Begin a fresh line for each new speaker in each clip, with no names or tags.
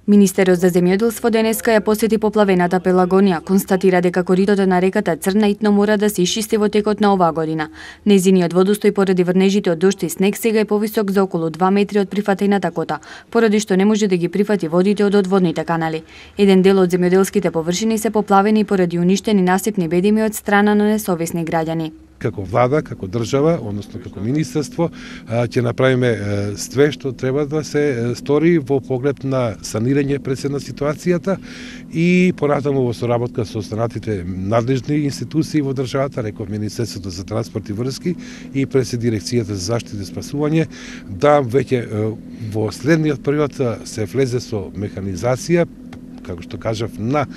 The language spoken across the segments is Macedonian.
Министерот за земјоделство денеска ја посети поплавената Пелагонија, констатира дека коритото на реката Црна итно мора да се исчисти во текот на оваа година. Нејзиниот водостој поради врнежите од дожд и снег сега е повисок за околу 2 метри од прифатената кота, поради што не може да ги прифати водите од одводните канали. Еден дел од земјоделските површини се поплавени поради уништени насипни бедими од страна на несовесни граѓани.
Како влада, како држава, односно како министерство, ќе направиме све што треба да се стори во поглед на санирање пред на ситуацијата и понатаму во соработка со останатите надлежни институции во државата, реков Министерството за транспорт и врски и пред дирекцијата за заштита и спасување, да веќе во следниот период се влезе со механизација, како што кажав, на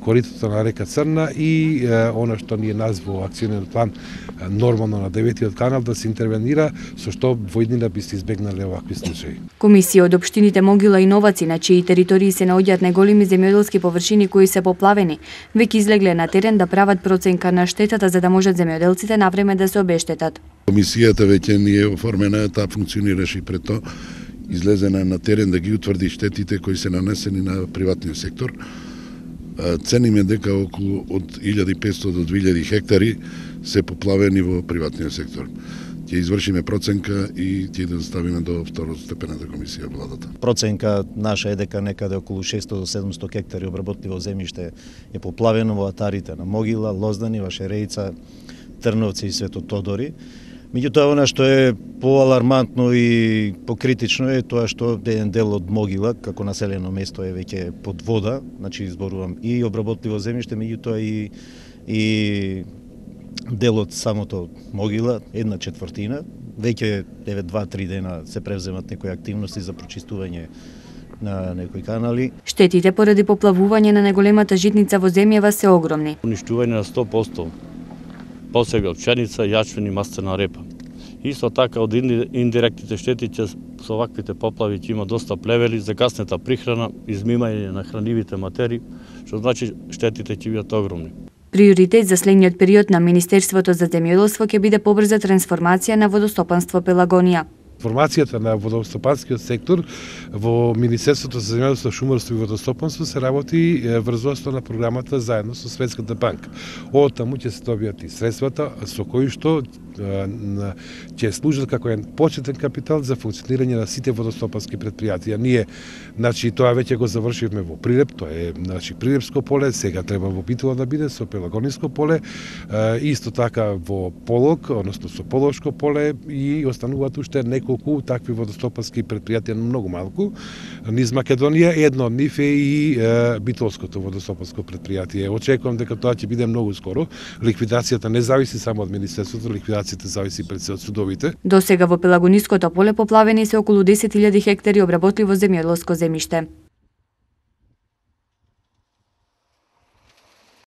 коритото на река Црна и она што ние во акционен план нормално на 9-тиот канал да се интервенира, со што во иднина би се избегнале овакви случаи.
Комисија од општините Могила и Новаци, на чии територии се наоѓаат најголеми земјоделски површини кои се поплавени, веќе излегле на терен да прават проценка на штетата за да можат земјоделците навреме да се обештетат.
Комисијата веќе не е оформена, таа функционираше и пред тоа. Излезена на терен да ги утврди штетите кои се нанесени на приватниот сектор. Цениме дека околу од 1500 до 2000 хектари се поплавени во приватниот сектор. Ќе извршиме проценка и ќе да доставиме до второстепената комисија владата.
Проценка наша е дека некаде околу 600 до 700 хектари обработливо земјиште е поплавено во атарите на Могила, Лоздани, Вашереица, Трновци и Свето Тодори. Меѓутоа, она што е поалармантно и покритично е тоа што еден дел од Могила, како населено место, е веќе под вода, значи изборувам и обработливо земјиште, меѓутоа и дел од самото Могила, 1/4, веќе 2-3 дена се превземат некои активности за прочистување на некои канали.
Штетите поради поплавување на најголемата житница во земјава се огромни.
Уништување на 100%. Посега пшеница, јачмин и мастена репа. Исто така од индиректните штети со ваквите поплави ќе има доста плевели, закаснета прихрана, измимање на хранливите материи, што значи штетите ќе бидат огромни.
Приоритет за следниот период на Министерството за земјоделство ќе биде побрза трансформација на водостопанство Пелагонија.
Формацијата на водостопанскиот сектор во Министерството за земјоделство, шумарство и водостопанство се работи врз основа на програмата заедно со Светската банка. Од таму ќе се добијат и средствата со кои што ќе служат како еден почетен капитал за функционирање на сите водостопански предпријатија. Ние, значи, тоа веќе го завршивме во Прилеп, тоа е, значи, Прилепско поле, сега треба во Битола да биде со Пелагониско поле, исто така во Полог, односно со Полошко поле и остануваат уште неколку такви водостопански предпријатија, многу малку. Низ Македонија едно од нив е и Битолското водостопанско предпријатие. Очекувам дека тоа ќе биде многу скоро. Ликвидацијата не зависи само од Министерството, ликвидацијата зависи пред се од судовите.
До сега во Пелагониското поле поплавени се околу 10.000 хектари обработливо земјоделско земјиште.